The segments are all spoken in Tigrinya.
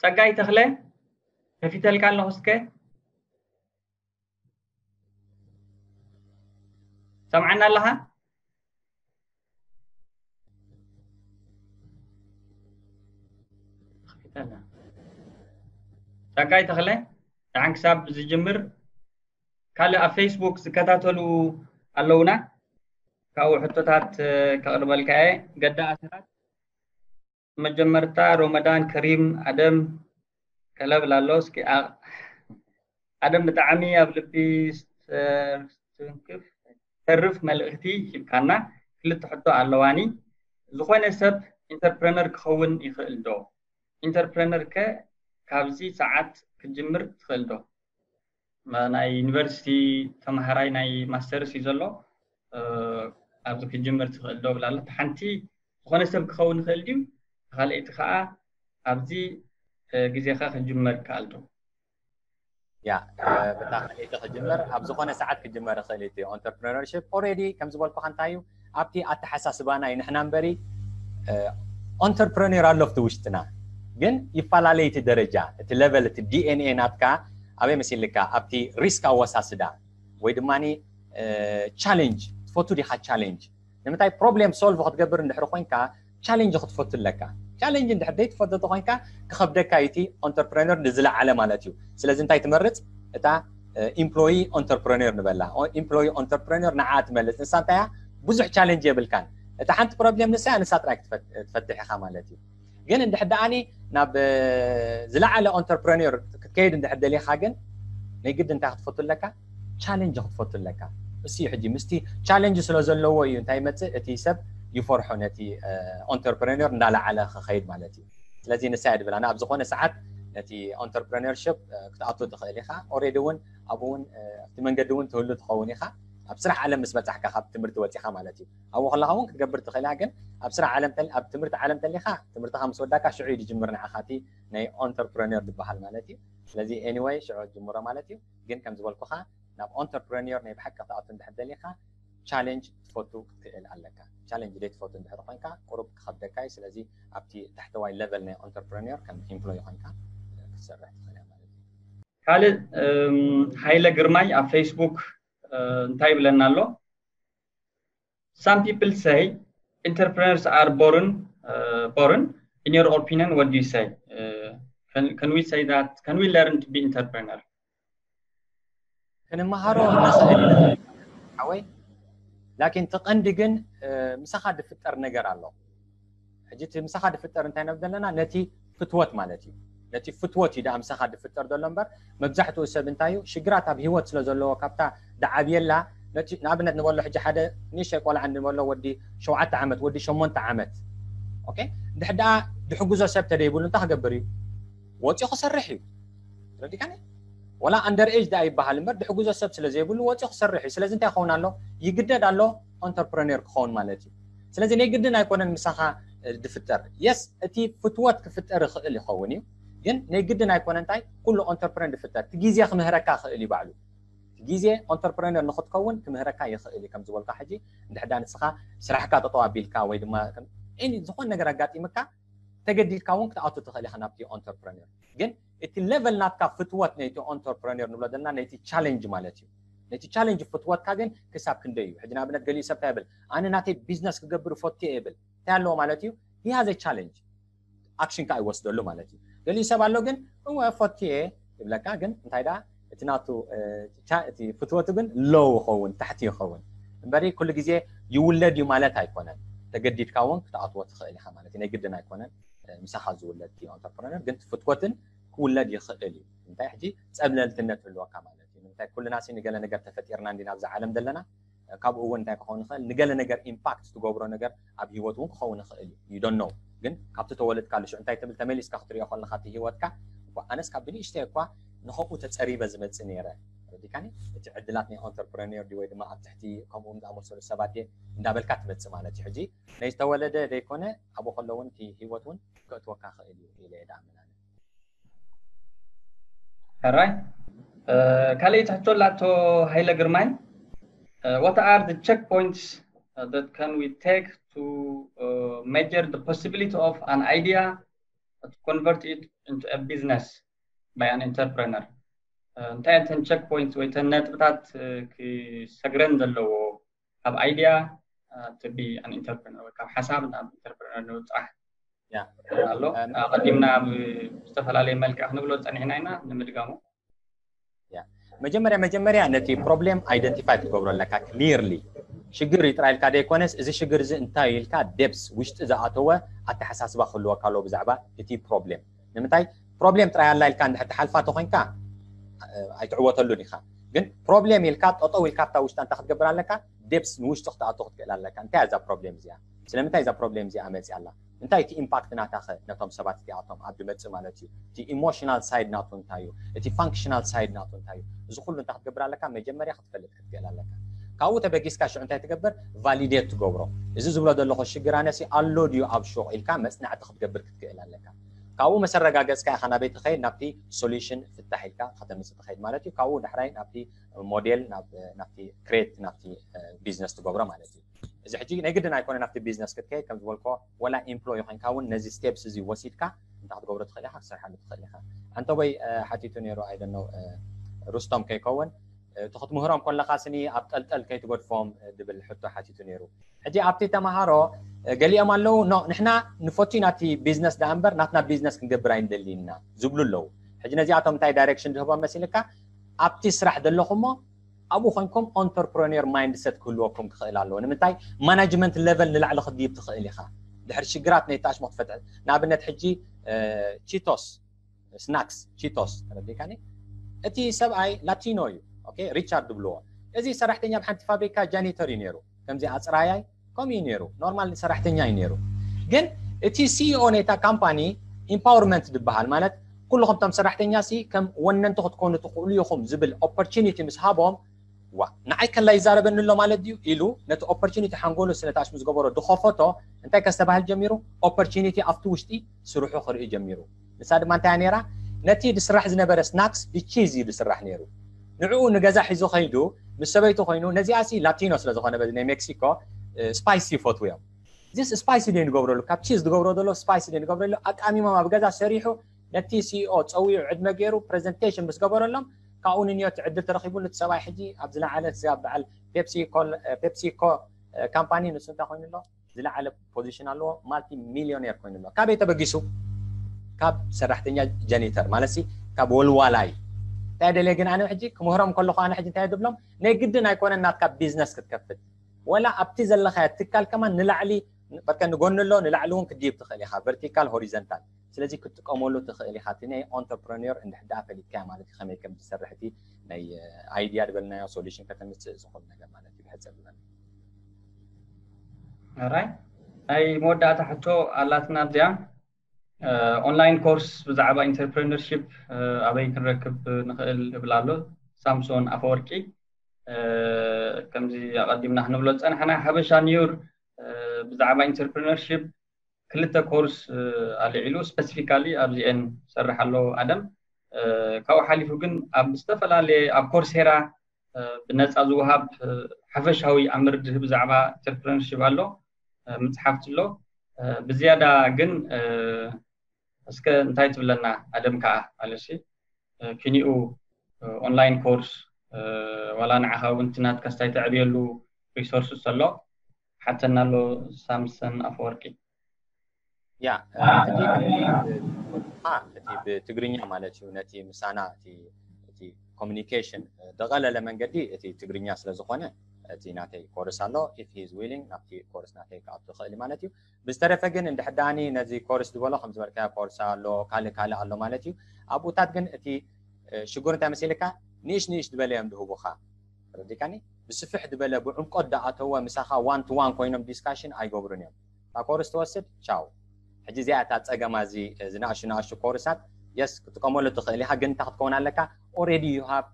ጸጋይ ተኽለ፣ ከፊተልካ ኣለኹ። እስከ ሰምዓና ኣለኻ? ጸጋይ ተኽለ፣ ደሓን ክሳብ ዝጅምር ካልእ ኣብ ፌስቡክ ዝከታተሉ ኣለውና። ካብኡ ሕቶታት ከቕርበልካ እየ። ገዳ ኣስራት፣ መጀመርታ ሮመዳን ከሪም። ኣደም ከለብል ኣሎ። እስኪ ኣደም፣ ብጣዕሚ ኣብ ልቢ ስተርፍ መልእኽቲ ሂብካና። ክልተ ሕቶ ኣለዋኒ። ዝኾነ ሰብ ኢንተርፕረነር ክኸውን ይኽእል ዶ? ኢንተርፕረነር ከ ካብዚ ሰዓት ክትጅምር ትኽእል ዶ? ናይ ዩኒቨርሲቲ ተምሃራይ ናይ ማስተርስ እዩ ዘሎ። ኣብዚ ክጅምር ትኽእል ዶ ብላ ኣሎ። ሓንቲ ዝኾነ ሰብ ክኸውን ይኽእል ድዩ? ካልኣይቲ ከዓ ኣብዚ ግዜኻ ክጅመር ይከኣል ዶ? ያ ብታ ካልኣይቲ ክጅመር ኣብ ዝኾነ ሰዓት ክጅመር ይኽእል እዩ። ኦንተርፕረነርሽፕ ኦልሬዲ ከም ዝበልኩኻ እንታይ እዩ ኣብቲ ኣተሓሳስባና እዩ ንሕና እምበሪ ኦንተርፕረነር ኣሎ ኣብቲ ውሽጥና ግን ይፈላለይ እቲ ደረጃ እቲ ሌቨል እቲ ዲኤንኤ ናትካ ኣበይ መሲልካ ኣብቲ ሪስክ ኣወሳስዳ ወይ ድማ ቻሌንጅ ትፈቱ ዲኻ ቻሌንጅ ንምንታይ ፕሮብሌም ሶልቭ ክትገብር እንድሕር ኮይንካ ቻሌንጅ ክትፈቱ ኣለካ ቻሌንጅ እንድሕር ዘይትፈቱ ተኮይንካ ክኸብደካ እዩ እቲ ኦንተርፕረነር ንዝለዓለ ማለት እዩ ስለዚ እንታይ ትመርፅ እታ ኢምፕሎይ ኦንተርፕረነር ንበላ ኢምፕሎይ ኦንተርፕረነር ንዓ ትመልፅ ንሳ እንታይ ብዙሕ ቻሌንጅ የብልካን እታ ሓንቲ ፕሮብሌም ንሳ ንሳ ጥራይ ትፈትሕ ኢኻ ማለት እዩ ግን እንድሕር ደኣኒ ናብ ዝለዓለ ኦንተርፕረነር ክትከይድ እንድሕር ደሊኻ ግን ናይ ግድ እንታይ ክትፈቱ ኣለካ ቻሌንጅ ክትፈቱ ኣለካ እሱ እዩ ሕጂ ምስቲ ቻሌንጅ ስለ ዘለዎ እዩ እንታይ ይመፅእ እቲ ሰብ ይፈርሖ ነቲ ኦንተርፕረነር እንዳለዓለ ክኸይድ ማለት እዩ ስለዚ ንሳ እያ ድብል ኣነ ኣብ ዝኾነ ሰዓት ነቲ ኦንተርፕረነርሽፕ ክትኣቱ ትኽእል ኢኻ ኦሬዲ እውን ኣብኡ እውን ኣብቲ መንገዲ እውን ትህሉ ትኸውን ኢኻ ኣብ ስራሕ ዓለም ምስ በፃሕካ ካብ ትምህርቲ ወፂኻ ማለት እዩ ኣብኡ ከለኻ እውን ክትገብር ትኽእል ኢኻ ግን ኣብ ስራሕ ዓለም ኣብ ትምህርቲ ዓለም ተሊኻ ትምህርትኻ ምስ ወዳካ ሽዑ እዩ ዝጅምር ንዓኻ እቲ ናይ ኦንተርፕረነር ዝበሃል ማለት እዩ ስለዚ ኤኒወይ ሽዑ ጅምሮ ማለት እዩ ግን ከም ዝበልኩኻ ናብ ኦንተርፕረነር ናይ ብሓቂ ክትኣቱ እንድሕር ደሊኻ ቻሌንጅ ትፈቱ ክትክእል ኣለካ ቻሌንጅ ደይ ትፈቱ እንድሕር ኮይንካ ቁሩብ ክኸብደካ እዩ ስለዚ ኣብቲ ታሕተዋይ ሌቨል ናይ ኦንተርፕረነር ከም ኢምፕሎይ ኮይንካ ክትሰርሕ ትኽእል ማለት እዩ ካልእ ሃይለ ግርማይ ኣብ ፌስቡክ እንታይ ይብለና ኣሎ some people say entrepreneurs are born uh, born in your opinion what do you say uh, can, can we say that can we learn to be entrepreneur ክንመሃሮ ንኽእል ኢና ሓወይ ላኪን እቲ ቀንዲ ግን ምሳኻ ዝፍጠር ነገር ኣሎ ሕጂ እቲ ምሳኻ ዝፍጠር እንታይ ነብ ዘለና ነቲ ፍትወት ማለት እዩ ነቲ ፍትወት እዩ ደኣ ምሳኻ ዝፍጠር ዘሎ እምበር መብዛሕትኡ ሰብ እንታይ እዩ ሽግራት ኣብ ህይወት ስለ ዘለዎ ካብታ ደዓብየላ ንኣብነት ንበሎ ሕጂ ሓደ ንእሽተይ ቆልዓ ንበሎ ወዲ ሸውዓተ ዓመት ወዲ ሸሞንተ ዓመት ኦኬ እንድሕር ደኣ ዝሕግዞ ሰብ ተደይብሉ እንታይ ክገብር እዩ ወፂኡ ክሰርሕ እዩ ረዲካኒ ወላ ኣንደር ኤጅ ደኣ ይበሃል እምበር ድሕግዞ ሰብ ስለ ዘይብሉ ወፂኡ ክሰርሕ እዩ ስለዚ እንታይ ክኸውን ኣሎ ይግደድ ኣሎ ኦንተርፕረነር ክኸውን ማለት እዩ ስለዚ ናይ ግድን ኣይኮነን ምሳኻ ድፍጠር የስ እቲ ፍትወት ክፍጠር ይኽእል ይኸውን እዩ ግን ናይ ግድን ኣይኮነ እንታይ ኩሉ ኦንተርፕረነር ድፍጠር እቲ ግዜ ክምህረካ ይኽእል እዩ ባዕሉ ግዜ ኦንተርፕረነር ንክትከውን ክምህረካ ይኽእል እዩ ከም ዝበልካ ሕጂ እንድሕዳ ንስኻ ስራሕካ ጠጠው ኣቢልካ ወይ ድማ ዝኾነ ነገር ኣጋጢምካ ተገዲድካ እውን ክትኣቱ ትኽእል ኢኻ ናብቲ ኦንተርፕረነር ግን እቲ ሌቨል ናትካ ፍትወት ነይቲ ኦንተርፕረነር ንብሎ ዘለና ነቲ ቻሌንጅ ማለት እዩ ነቲ ቻሌንጅ ፍትወትካ ግን ክሳብ ክንደይ እዩ ሕጂ ንኣብነት ገሊኡ ሰብ እንታይ ይብል ኣነ ናተይ ቢዝነስ ክገብር ፈትየ ይብል እንታይ ኣለዎ ማለት እዩ ሂሃዘ ቻሌንጅ ኣክሽን ከዓ ይወስደሉ ማለት እዩ ገሊኡ ሰብ ኣሎ ግን እወ ፈትየ ይብለካ ግን እንታይ ደኣ እቲ ናቱ እቲ ፍትወቱ ግን ሎው ይኸውን ታሕቲ ይኸውን እምበሪ ኩሉ ግዜ ይውለድ እዩ ማለት ኣይኮነን ተገዲድካ እውን ክትኣትዎ ትኽእል ኢኻ ማለት እዩ ናይ ግድን ኣይኮነን ምሳኻ ዝውለድ እዩ ኣንተርፕረነር ግን ፍትወትን ክውለድ ይኽእል እዩ እንታይ ሕጂ ፀብለልትነት ህልወካ ማለት እዩ ንምንታይ ኩልና ሲ ንገለ ነገር ተፈጢርና እንዲና ኣብዛ ዓለም ዘለና ካብኡ እውን እንታይ ክኸውን ይኽእል ንገለ ነገር ኢምፓክት ትገብሮ ነገር ኣብ ህይወት እውን ክኸውን ይኽእል እዩ you don't know ግን ካብቲ ተወለድካሉ ሽዑ እንታይ ትብል ተመሊስካ ክትሪኦ ከለካ እቲ ህይወትካ ኣነስ ካብ ብንእሽተይ እኳ ንኸምኡ ተፀሪበ ዝመፅእ ነይረ ረዲካኒ እቲ ዕድላት ናይ ኦንተርፕረነር ድዩ ወይ ድማ ኣብ ትሕቲ ከምኡ ዝኣመሰሉ ሰባት እየ እንዳበልካ ትመፅእ ማለት እዩ ሕጂ ነዝተወለደ ዘይኮነ ኣብኡ ከሎ እውን እቲ ህይወት እውን ከእትወካ ክእል እዩ ኢለ እየ ዳኣምን ኣነ ሕራይ ካልኣይቲ ሕቶ ላቶ ሃይለ ግርማይ what are the checkpoints uh, that can we take to uh, measure the possibility of an idea to convert it into a business by an entrepreneur እንታይ እተን check points ወይ እተን ነጥብታት ክሰግረን ዘለዎ ካብ idea to be an entrepreneur ወይ ካብ ሓሳብ ናብ entrepreneur ንምብፃሕ ኣሎ። ኣቐዲምና ብዝተፈላለየ መልክዕ ክንብሎ ዝፀኒሕና ኢና ንምድጋሙ። መጀመርያ መጀመርያ ነቲ problem identify ክትገብሮ ኣለካ clearly። ሽግር እዩ ጥራይ ኢልካ ዘይኮነስ፣ እዚ ሽግር እዚ እንታይ ኢልካ depth ውሽጢ ዝኣተወ ኣተሓሳስባ ክህልወካ ኣለዎ ብዛዕባ እቲ problem። ንምንታይ problem ጥራይ ኣላ ኢልካ እንድሕር ትሓልፋ ተኾይንካ ኣይትዕወተሉን ኢኻ። ግን problem ኢልካ ጠጠው ኢልካ ኣብታ ውሽጣ እንታይ ክትገብር ኣለካ? depth ንውሽጢ ክትኣቱ ክትክእል ኣለካ። እንታይ እዛ problem እዚኣ? ስለምንታይ እዛ problem እዚኣ መፅያ ኣላ? እንታይ እቲ impact ናታ ኸ ነቶም ሰባት እዚኣቶም ኣብ ድመፅእ ማለት እዩ? እቲ emotional side ናቱ እንታይ እዩ? እቲ functional side ናቱ እንታይ እዩ? እዚ ኩሉ እንታይ ክትገብር ኣለካ? መጀመርያ ክትፈልጥ ክትክእል ኣለካ። ካብኡ ተበጊስካ ሽዑ እንታይ ትገብር? validate ትገብሮ። እዚ ዝብሎ ዘለኹ ሽግር ኣነሲ ኣሎ ድዩ ኣብ ሹቕ ኢልካ መፅናዕቲ ክትገብር ክትክእል ኣለካ። ካብኡ መሰረጋገፅካ ኢኻ ናበይ ትኸይድ? ናብቲ solution ፍታሕ ኢልካ ከተምፅእ ትኸይድ ማለት እዩ። ካብኡ ዳሕራይ ናብቲ ሞዴል ናብቲ create ናብቲ business ትገብሮ ማለት እዩ። እዚ ሕጂ ናይ ግድን ኣይኮነ ናብቲ business ክትከይድ ከም ዝበልኮ ወላ employee ኮይንካ እውን ነዚ steps እዚ ወሲድካ እንታይ ክትገብሮ ትኽእል ኢኻ ክትሰርሓሉ ትኽእል ኢኻ። ኣንተቦይ ሓቲቱ ነይሩ ኣይደነው ሩስቶም ከይከውን እቲ ክትምህሮም ከለኻ ስኒ ኣብ ጠልጠል ከይትገድፎም ድብል ሕቶ ሓቲቱ ነይሩ። ሕጂ ኣብቲ ተምሃሮ ገሊኦም ኣለዉ no ንሕና ንፈቱ ናቲ business ደኣ እምበር ናትና business ክንገብር ኣይንደልይና ዝብሉ ኣለዉ። ሕጂ ነዚኣቶም እንታይ direction ዝህቦም መሲልካ ኣብቲ ስራሕ ዘለኹሞ ኣብኡ ኮይንኩም entrepreneur mindset ክህልወኩም ክኽእል ኣለዎ። ንምንታይ management level ንላዕሊ ክትድይብ ትኽእል ኢኻ ድሕሪ ሽግራት ናይ ተኣሽሞ ክትፈትሕ። ንኣብነት ሕጂ ቺቶስ ስናክስ ቺቶስ ተረዲካኒ እቲ ሰብኣይ ላቲኖ እዩ። ኦኬ ሪቻርድ ዝብልዎ እዚ ሰራሕተኛ ኣብ ሓንቲ ፋብሪካ ጃኒተር እዩ ነይሩ። ከምዚ ኣፅራያይ ከምኡ እዩ ነይሩ። ኖርማል ሰራሕተኛ እዩ ነይሩ። ግን እቲ CEO ናይታ ካምፓኒ empowerment ዝበሃል ማለት ኩልኹም እቶም ሰራሕተኛ ሲ ከም ወነንቲ ክትኮኑ ትኽእሉ ኢኹም ዝብል opportunity ምስ ሃቦም ዋ ንዓይ ከላ ይዛረበኒ ኣሎ ማለት ድዩ ኢሉ ነቲ opportunity ሓንጎሉ ስለ ተኣሽሙ ዝገበሮ ዝኸፈቶ እንታይ ከስተባህል ጀሚሩ opportunity ኣብቲ ውሽጢ ስርሑ ክርኢ ጀሚሩ። ንሳ ድማ እንታይ ነይራ ነቲ ዝስራሕ ዝነበረ ስናክስ ብቺዝ እዩ ዝስራሕ ነይሩ። ንዕኡ ንገዛ ሒዙ ከይዱ ምስ ሰበይቱ ኮይኑ ነዚኣ ሲ ላቲኖ ስለ ዝኾነ በዚ ናይ ሜክሲኮ ስፓይሲ ይፈትዉ እዮም። ዚስ ስፓይሲ ዶ ንገብረሉ ካብ ቺዝ ዝገብሮ ዘሎ ስፓይሲ ዶ ንገብረሉ ኣቃሚሞም ኣብ ገዛ ሰሪሑ ነቲ CEO ፀዊዑ ዕድመ ገይሩ presentation ምስ ገበረሎም ካብኡ ንንዮት ዕድል ተረኺቡ ነቲ ሰብኣይ ሕጂ ኣብ ዝለዓለ ዚኣ በዓል ፔፕሲ ኮል ፔፕሲ ኮ ካምፓኒ ንሱ እንታይ ኮይኑ ኣሎ ዝለዓለ position ኣለዎ። multi millionaire ኮይኑ ኣሎ። ካበይ ተበጊሱ? ካብ ሰራሕተኛ ጀኒተር ማለት ሲ ካብ ወልዋላይ። እንታይ ደልየ ግን ኣነ ሕጂ ክምህሮም ከለኹ ኣነ ሕጂ እንታይ ድብሎም ናይ ግድን ኣይኮነን ናትካ business ክትከፍት ወላ ኣብቲ ዘለኻዮ ትካል ከማን ንላዕሊ በርከ ንጎኒ ኣሎ ንላዕሊ እውን ክድይብ ትኽእል ኢኻ vertical horizontal። ስለዚ ክትጥቀመሉ ትኽእል ኢኻ እቲ ናይ entrepreneur እንድሕር ደኣ ፈሊጥካዮ ማለት እዩ ከመይ ከም ዝሰርሕ እቲ ናይ idea ዝበልናዮ solution ከተምፅእ ዝኽእል ነገር ማለት እዩ ብሕፅር ዝበለ። ራይ ናይ መወዳእታ ሕቶ ኣላትና ኣብዚኣ online course ብዛዕባ entrepreneurship ኣበይ ክንረክብ ንኽእል እብል ኣሎ። ሳምሶን ኣፈወርቂ ከምዚ ኣቐዲምና ክንብሎ ዝፀናሕና ሓበሻ ኒውር ብዛዕባ entrepreneurship ክልተ course ኣልዒሉ specifically ኣብዚኤን ሰርሕ ኣሎ ኣደም። ካብኡ ሓሊፉ ግን ኣብ ዝተፈላለየ ኣብ ኮርሴራ ብነፃ ዝወሃብ ሓፈሻዊ ኣምር ድህብ ብዛዕባ entrepreneurship ኣሎ ምፅሓፍቲ ኣሎ። ብዝያዳ ግን እስከ እንታይ ትብለና ኣደም ከዓ ኣለሲ ኪኒኡ online course ዋላ ንዓኻ እውን እቲ ናትካ ስታይ ተዕብየሉ resources ኣሎ ሓተና ኣሎ ሳምሰን ኣፈወርቂ። ያ እቲ ብትግርኛ ማለት እዩ ነቲ ምሳና እቲ communication ደቐለለ መንገዲ እቲ ትግርኛ ስለ ዝኾነ እቲ ናተይ ኮርስ ኣሎ if he is willing ናብቲ ኮርስ ናተይ ክኣቱ ይኽእል ማለት እዩ። ብዝተረፈ ግን እንድሕዳኒ ነዚ ኮርስ ዝበሎ ከም ዝበልካዮ ኮርስ ኣሎ ካልእ ካልእ ኣሎ ማለት እዩ። ኣብኡታት ግን እቲ ሽጉር እንታይ መሲልካ ንእሽ ንእሽ ዝበለ እዮም ድህቡኻ ረዲካኒ ብስፍሕ ዝበለ ብዕምቆት ደኣተወ ምሳኻ one to one ኮይኖም discussion ኣይገብሩን እዮም። እታ ኮርስ ትወስድ ቻው። ሕጂ እዚኣ እታ ፀገማ እዚ ዝናእሹ ናእሹ ኮርሳት yes ክትጥቀመሉ ትኽእል ኢኻ ግን እንታይ ክትከውን ኣለካ already you have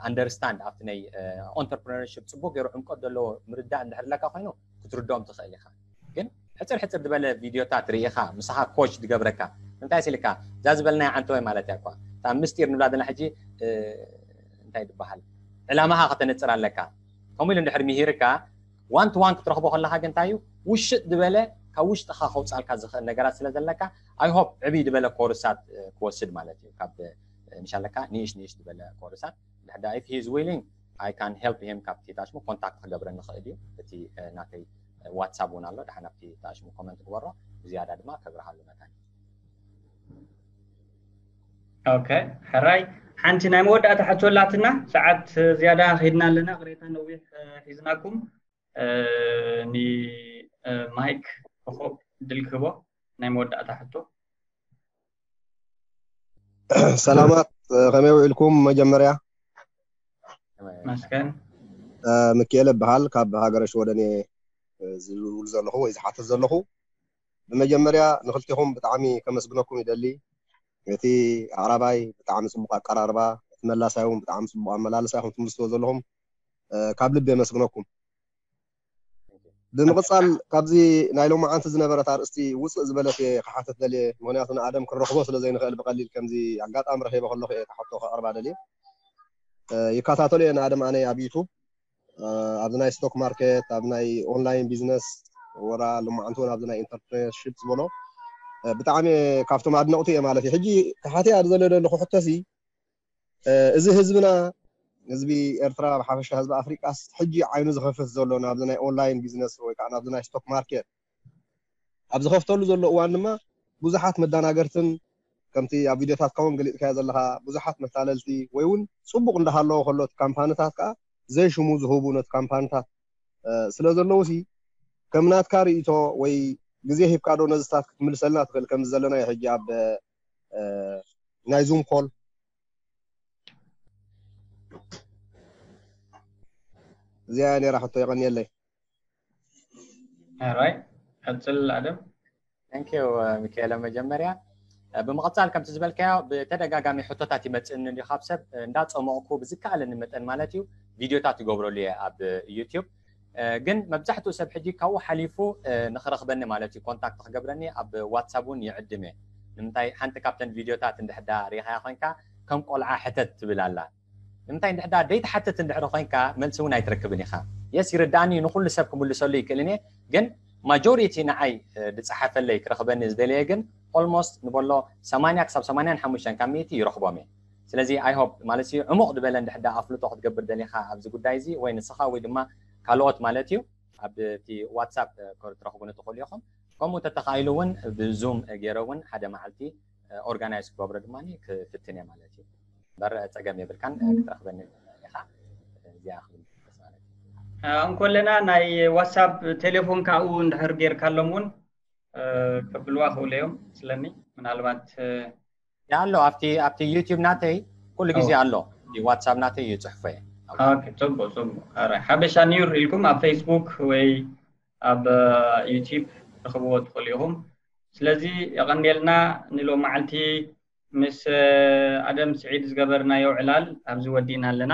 understand ኣብቲ ናይ entrepreneurship ፅቡቅ ገይሩ ዕምቆት ዘለዎ ምርዳእ እንድሕር ኣለካ ኮይኑ ክትርድኦም ትኽእል ኢኻ። ግን ሕፅር ሕፅር ዝበለ ቪድዮታት ርኢኻ ምሳኻ coach ዝገብረካ እንታይ ሲልካ እዛ ዝበልናያ ዓንተወይ ማለት እያ እኳ እታ ምስጢር ንብላ ዘለና ሕጂ እንታይ ዝበሃል ዕላማኻ ከተነፅር ኣለካ። ከምኡ ኢሉ እንድሕር ምሂርካ one to one ክትረኽቦ ከለኻ ግን እንታይ እዩ ውሽጥ ዝበለ ካብ ውሽጥኻ ከውፃልካ ዝኽእል ነገራት ስለ ዘለካ I hope ዕብይ ዝበለ ኮርሳት ክወስድ ማለት እዩ። ካብ ምሻለካ ንእሽ ንእሽ ዝበለ ኮርሳት ድሕዳ if he is willing I can help him። ካብቲ ታሽሙ ኮንታክት ክገብረ ንኽእል እዩ። እቲ ናተይ ዋትሳፕ እውን ኣሎ። ድሓን ኣብቲ ታሽሙ ኮመንት ግበሮ። ብዝያዳ ድማ ከብርሃሉ መታን። ኦኬ፣ ሕራይ ሓንቲ ናይ መወዳእታ ሕቶ ኣላትና። ሰዓት ዝያዳ ከይድና ኣለና። ቅሬታ ነዊሕ ሒዝናኩም። ኒ ማይክ ኮኾብ ድል ክህቦ ናይ መወዳእታ ሕቶ። ሰላማት፣ ከመይ ውዒልኩም? መጀመርያ መስከን ምክኤለ እበሃል፣ ካብ ሃገረ ሽወደን እየ ዝውል ዘለኹ ወይ ዝሓትት ዘለኹ። ብመጀመርያ ንክልቲኹም ብጣዕሚ ከመስግነኩም ይደሊ። እቲ ኣዕራባይ ብጣዕሚ ፅቡቅ ኣቀራርባ፣ እቲ መላሳይ እውን ብጣዕሚ ፅቡቅ ኣመላልሳ ኢኹም ትምልስዎ ዘለኹም። ካብ ልቢ የመስግነኩም። ብምቕፃል ካብዚ ናይ ሎማዓንቲ ዝነበረት ኣርእስቲ ውፅእ ዝበለት እየ ክሓትት ደልየ። ምክንያቱ ንኣደም ክንረኽቦ ስለ ዘይንኽእል ብቐሊል ከምዚ ኣጋጣሚ ረኺበ ከለኹ እየ እታ ሕቶ ከቕርባ ደልየ። ይከታተሎ እየ ንኣደም ኣነ ኣብ ዩቱብ፣ ኣብዚ ናይ ስቶክ ማርኬት፣ ኣብ ናይ ኦንላይን ቢዝነስ፣ ወራ ሎማዓንቲ እውን ኣብዚ ናይ ኢንተርፕረነርሺፕ ዝበሎ ብጣዕሚ ካብቶም ኣድነቕቱ እየ ማለት እዩ። ሕጂ ክሓትያ ዝደለ ዘለኹ ሕቶሲ እዚ ህዝብና፣ ህዝቢ ኤርትራ፣ ብሓፈሻ ህዝቢ ኣፍሪቃስ ሕጂ ዓይኑ ዝኸፍት ዘሎ ናብዚ ናይ ኦንላይን ቢዝነስ ወይ ከዓ ናብዚ ናይ ስቶክ ማርኬት ኣብ ዝኸፍተሉ ዘሎ እዋን ድማ ብዙሓት መዳናገርትን ከምቲ ኣብ ቪድዮታትካ እውን ገሊፅካዮ ዘለካ ብዙሓት መታለልቲ ወይ እውን ፅቡቅ እንዳሃለዎ ከሎ እቲ ካምፓኒታት ከዓ ዘይሽሙ ዝህቡ ነቲ ካምፓኒታት ስለ ዘለዉ ሲ ከም ናትካ ርእይቶ ወይ ግዜ ሂብካ ዶ ነዝታት ክትምልሰልና ትኽእል? ከምዚ ዘለናዮ ሕጂ ኣብ ናይ ዙም ኮል እዚኣ ነራ ሕቶ። የቐንየለይ። ራይ ቀፅል ኣደም። Thank you ሚካኤለ። መጀመርያ ብምቕፃል ከምቲ ዝበልካዮ ብተደጋጋሚ ሕቶታት ይመፅእኒ እንዲ ካብ ሰብ እንዳፀመቕኩ ብዝከኣለኒ መጠን ማለት እዩ ቪድዮታት ይገብረሉ እየ ኣብ ዩቲዩብ። ግን መብዛሕትኡ ሰብ ሕጂ ካብኡ ሓሊፉ ንክረኽበኒ ማለት እዩ ኮንታክት ክገብረኒ ኣብ ዋትሳፕ እውን ይዕድም እየ። ንምንታይ ሓንቲ ካብተን ቪድዮታት እንድሕዳ ሪኢኻያ ኮይንካ ከም ቆልዓ ሕተት ትብል ኣላ። ንምንታይ እንድሕዳ ደይትሓትት እንድሕሪ ኮይንካ መልሲ እውን ኣይትረክብን ኢኻ። የስ ይርዳእኒ ንኩሉ ሰብ ክምልሰሉ ይክእልን እየ ግን ማጆሪቲ ንዓይ ዝፀሓፈለይ ክረኽበኒ ዝደለየ ግን ኦልሞስት ንበሎ ሰማንያ ክሳብ ሰማንያን ሓሙሽተን ካብ ሚእቲ ይረኽቦም እየ። ስለዚ I hope ማለት እዩ ዕሙቕ ዝበለ እንድሕዳ ኣፍልጦ ክትገብር ደሊኻ ኣብዚ ጉዳይ እዚ ወይ ንስኻ ወይ ድማ ካልኦት ማለት እዩ ኣብቲ ዋትሳፕ ክትረኽቡኒ ትኽእሉ ኢኹም። ከምኡ ተተኻኢሉ እውን ብዙም ገይረ እውን ሓደ መዓልቲ ኦርጋናይዝ ክገብሮ ድማ ክፍትን እየ ማለት እዩ። በር ፀገም የብልካን ክትረኽበኒ ኢኻ። እዚኣ ክብል ማለት እዩ። እንኮለና ናይ ዋትሳፕ ቴሌፎን ካብኡ እንድሕር ጌርካሎም እውን ከብልዋ ክእሉ እዮም ስለኒ ምናልባት ኣሎ ኣብቲ ኣብቲ ዩቲዩብ ናተይ ኩሉ ግዜ ኣሎ። ዋትሳፕ ናተይ ይፅሕፎ እየ። ፅቡቅ ፅቡቅ። ሓበሻ ኒውር ኢልኩም ኣብ ፌስቡክ ወይ ኣብ ዩቲዩብ ትረኽብዎ ትኽእሉ ኢኹም። ስለዚ የቐንየልና ንሎማዓልቲ ምስ ኣደም ስዒድ ዝገበርናዮ ዕላል ኣብዚ ወዲእና ኣለና።